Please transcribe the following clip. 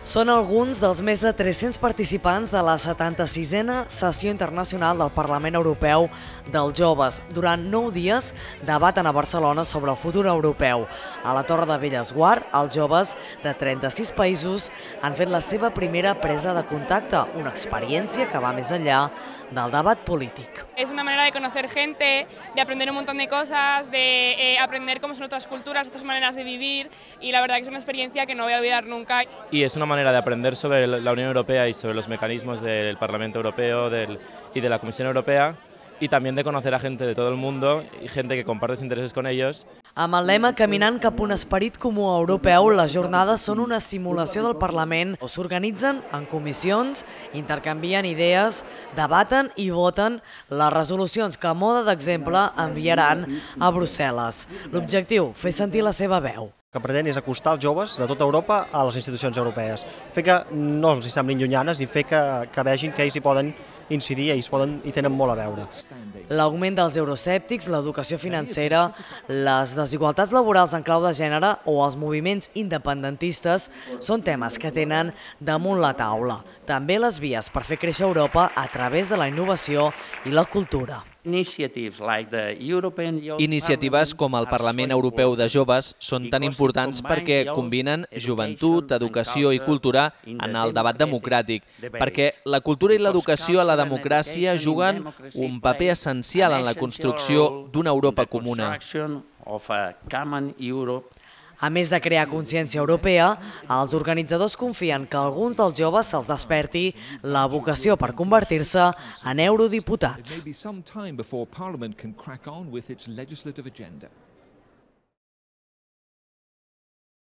Són alguns dels més de 300 participants de la 76a Sessió Internacional del Parlament Europeu dels Joves. Durant 9 dies debaten a Barcelona sobre el futur europeu. A la Torre de Bellesguard, els joves de 36 països han fet la seva primera presa de contacte, una experiència que va més enllà del debat polític. Es una manera de conocer gente, de aprender un montón de cosas, de aprender cómo son otras culturas, otras maneras de vivir, y la verdad que es una experiencia que no voy a olvidar nunca. Y es una manera de aprender sobre la Unión Europea y sobre los mecanismos del Parlamento Europeo y de la Comisión Europea, y también de conocer a gente de todo el mundo y gente que compartes intereses con ellos. Amb el lema Caminant cap a un esperit comú europeu, les jornades són una simulació del Parlament on s'organitzen en comissions, intercanvien idees, debaten i voten les resolucions que, a mode d'exemple, enviaran a Brussel·les. L'objectiu, fer sentir la seva veu. El que pretén és acostar els joves de tota Europa a les institucions europees, fer que no els semblin llunyanes i fer que vegin que ells hi poden incidir i hi tenen molt a veure. L'augment dels euroscèptics, l'educació financera, les desigualtats laborals en clau de gènere o els moviments independentistes són temes que tenen damunt la taula. També les vies per fer créixer Europa a través de la innovació i la cultura. Iniciatives com el Parlament Europeu de Joves són tan importants perquè combinen joventut, educació i cultura en el debat democràtic, perquè la cultura i l'educació a la democràcia juguen un paper essencial en la construcció d'una Europa comuna. A més de crear consciència europea, els organitzadors confien que a alguns dels joves se'ls desperti la vocació per convertir-se en eurodiputats.